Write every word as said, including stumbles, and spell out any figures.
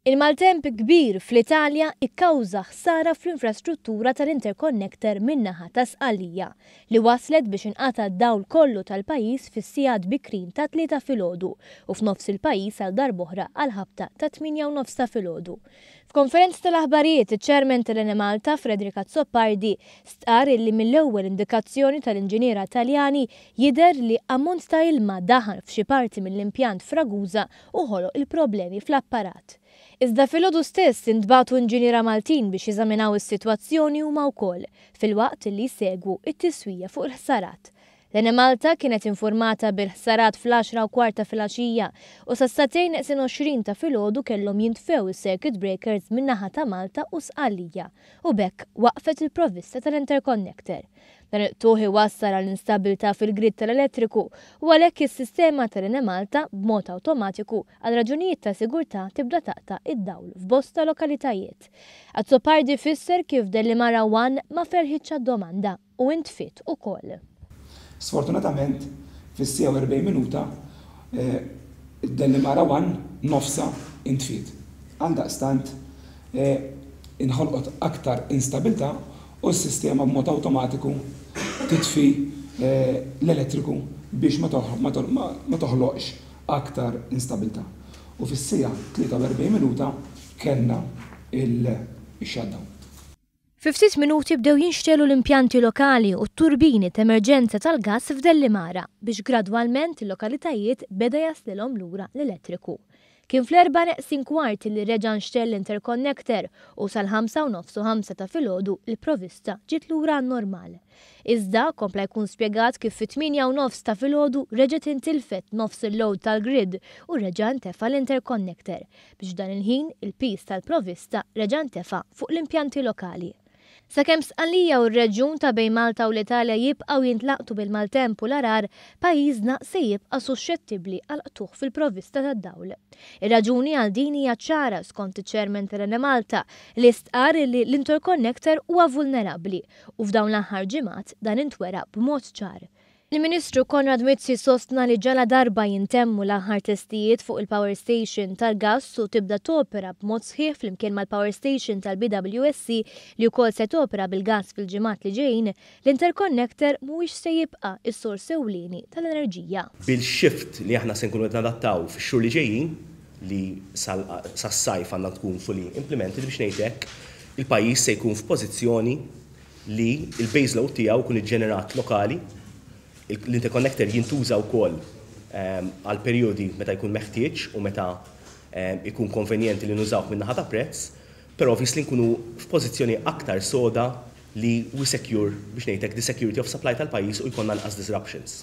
Il-maltemp kbir fl-Italja ikkawża ħsara fl-infrastruttura tal-interconnector min-naħa ta' Sqallija, li waslet biex inqata' d-dawl kollu tal-pajjiż fis-sigħat bikrin ta' tlieta filgħodu u f'nofs il-pajjiż għal darb'oħra għal ħabta ta' tmienja u nofs ta' filgħodu. F'konferenza tal-aħbarijiet, iċ-Chairman tal-Enemalta, Frederick Azzopardi, stqar li mill-ewwel indikazzjoni tal-inġiniera Taljani jidher li ammont ta' ilma daħal f'xi parti mill-impjant f'Ragusa u ħoloq il-problemi fl-apparat. Iżda filgħodu stess intbagħtu inġiniera Maltin biex jeżaminaw is-sitwazzjoni huma wkoll, filwaqt li jsegwu it-tiswija fuq il-ħsarat. L-Enemalta kienet informata bil-ħsarat fl-għaxra u kwarta filgħaxija u sas-sagħtejn neqsin għoxrin ta' filgħodu kellhom jintfew is-circuit breakers min-naħa ta' Malta u Sqallija u b'hekk waqfet il-provvista tal-interconnector. Dan il-qtugħ iwassal għal instabilità fil-grid tal-elettriku u għalhekk is-sistema tal-Enemalta b'mod awtomatiku għal raġunijiet ta' sigurtà tibda taqta' id-dawl f'bosta lokalitajiet. Azzopardi fisser kif Delimara one ma felħitx domanda u intfit ukoll. Sfortunatament, fis-siegħa u erbgħin minuta, eh, id-Delimara one nofsa intfit. Għaldaqstant, eh, inħolqot aktar instabilità u s-sistema b'mod awtomatiku titfi eh, l-elettriku biex ma toħloqx aktar instabilità. U fis-siegħa tlieta u erbgħin minuta kellna il-shutdown. Fi ftit minuti bdew jinxtegħlu l-impjanti lokali u t-turbini ta' emerġenza tal-gas f'Dellimara biex gradwalment il-lokalitajiet beda jaslilhom lura l-elettriku. Kien fl-erbgħa neqsin kwart li reġa' nxtegħel l-interconnector u sal-ħamsa u nofs u ħamsa ta' filgħodu il-provista ġiet lura normal. Iżda kompla jkun spjegat kif fit-tmienja u nofs ta' filgħodu reġgħet intilfet nofs il-load tal-grid u reġa' ntefa l-interconnector biex dan il-ħin il-pis tal-provista reġa' ntefa fuq l-impjanti lokali. Sakemm Sqallija u r-reġjun ta' bejn Malta u l-Italja jibqgħu jintlaqtu bil-maltemp u l-għargħar, pajjiżna se jibqa' suxxettibbli għal qtugħ fil-provvista tad-dawl. Ir-raġuni għal din hija ċara skont iċ-Chairman tal-Enemalta, li stqar li l-interconnector huwa vulnerabbli u f'dawn l-aħħar ġimgħat dan intwera b'mod ċar. Il-Ministru Konrad Mizzi sostna li ġala darba jintemmu l-aħħar testijiet fuq il-power station tal-gas u tibda topera b'mod sħiħ flimkien mal-power station tal-B W S C li wkoll se topera bil-gas fil-ġimgħat li ġejjin, l-interconnector mhuwiex se jibqa' is-sors ewlieni tal-enerġija. Bil-shift li aħna se nkunu qed nadattaw fix-xhur li ġejjin, li sas-sajf għandna tkun fully implemented, biex ngħidlek, il-pajjiż se jkun f'pożizzjoni li il-base load tiegħu jkun iġġenerat lokali. L-interconnector jintuża wkoll ehm, għal perjodi meta jkun meħtieġ u meta ehm, ikun konvenjenti li nużawh minn naħa ta' prezz, però obviously nkunu f'pożizzjoni aktar soda li we secure, biex ngħidlek, the security of supply tal-pajjiż u jkollna anqas disruptions.